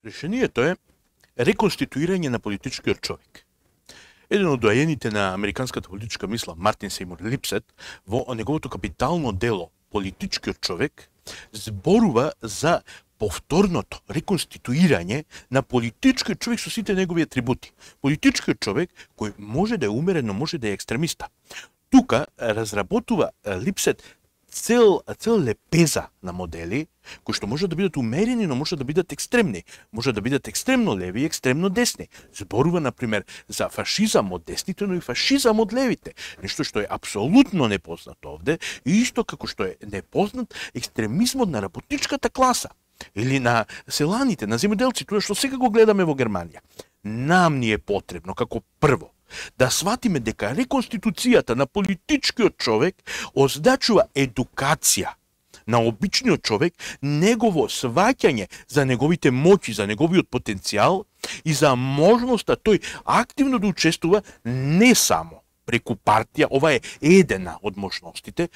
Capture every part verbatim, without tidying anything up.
Решението е реконституирање на политичкиот човек. Еден од доаените на американската политичка мисла, Мартин Сеймур Липсет, во неговото капитално дело "Политичкиот човек", зборува за повторното реконституирање на политичкиот човек со сите негови атрибути. Политичкиот човек кој може да е умерен, но може да е екстремиста. Тука разработува Липсет цел, цел лепеза на модели, кои што може да бидат умерени, но може да бидат екстремни. Може да бидат екстремно леви и екстремно десни. Зборува, например, за фашизам од десните, но и фашизам од левите. Нешто што е апсолутно непознато овде, и исто како што е непознат екстремизмот на работничката класа. Или на селаните, на земјоделците, тоа што сега го гледаме во Германија. Нам ни е потребно, како прво, да сватиме дека реконституцијата на политичкиот човек означува едукација на обичниот човек, негово сваќање за неговите моќи, за неговиот потенцијал и за можноста тој активно да учествува не само преку партија, ова е едена од можностите,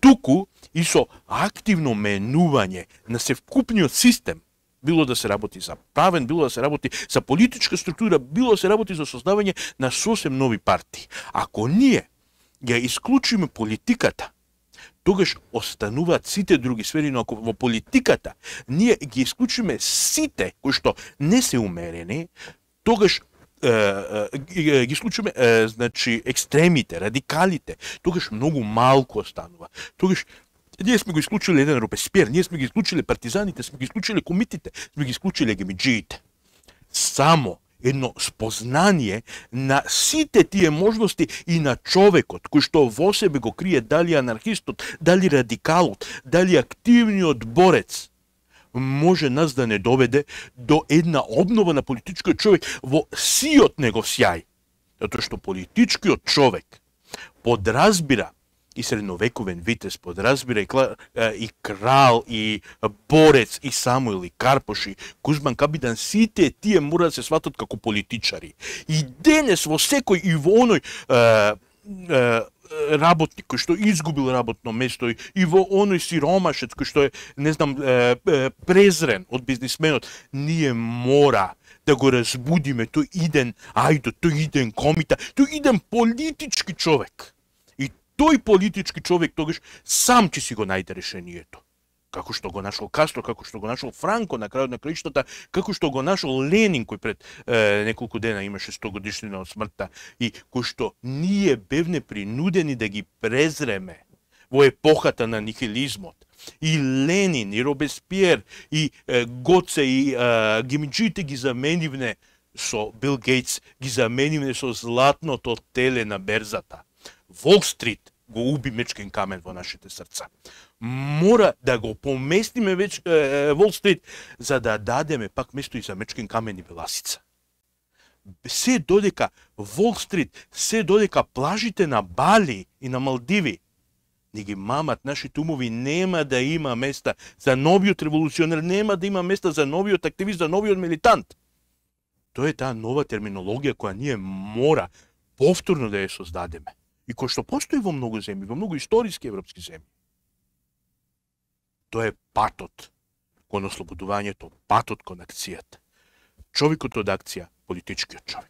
туку и со активно менување на севкупниот систем, било да се работи за правен, било да се работи за политичка структура, било да се работи за создавање на сосем нови партии. Ако ние ја исклучиме политиката, тогаш остануваат сите други сфери, но ако во политиката ние ги исклучиме сите кои што не се умерени, тогаш е, е, ги исклучиме е, значи екстремите, радикалите, тогаш многу малку останува. Тогаш ние сме го исклучили еден Робеспиер, ние сме ги исклучили партизаните, сме ги исклучили комитите, сме ги исклучили гемиџиите. Само едно спознание на сите тие можности и на човекот, кој што во себе го крие дали анархистот, дали радикалот, дали активниот борец, може нас да не доведе до една обнова на политичкиот човек во сиот негов сјај. Затоа што политичкиот човек подразбира и средновековен витез, подразбира и, кла, и крал, и борец, и Самуил, и Карпош, и Кузман Капидан, сите тие мора да се сватат како политичари. И денес во секој и во оној е, е, работник кој што изгубил работно место, и во оној сиромашец кој што е, не знам, е, е, презрен од бизнисменот, ние мора да го разбудиме тој иден ајдо, тој иден комита, тој иден политички човек. Тој политички човек тогаш сам ќе си го најде решението. Како што го нашол Кастро, како што го нашол Франко на крајот на краиштата, како што го нашол Ленин кој пред е, неколку дена имаше сто годишнина од смртта и кој што ние бевне принудени да ги презреме во епохата на нихилизмот. И Ленин, и Робеспиер, и е, Гоце, и е, гемиџиите ги заменивне со Бил Гейтс, ги заменивне со златното теле на берзата. Волл Стрит го уби мечкен камен во нашите срца. Мора да го поместиме веќе е, Волл Стрит за да дадеме пак место и за мечкен камен и беласица. Се додека Волл Стрит, се додека плажите на Бали и на Малдиви не ги мамат нашите умови, нема да има места за новиот револуционер, нема да има места за новиот активист, за новиот милитант. Тоа е таа нова терминологија која ние мора повторно да ја создадеме. И кој што постои во многу земји, во многу историски европски земји. Тоа е патот кон ослободувањето, патот кон акцијата. Човекот од акција, политичкиот човек.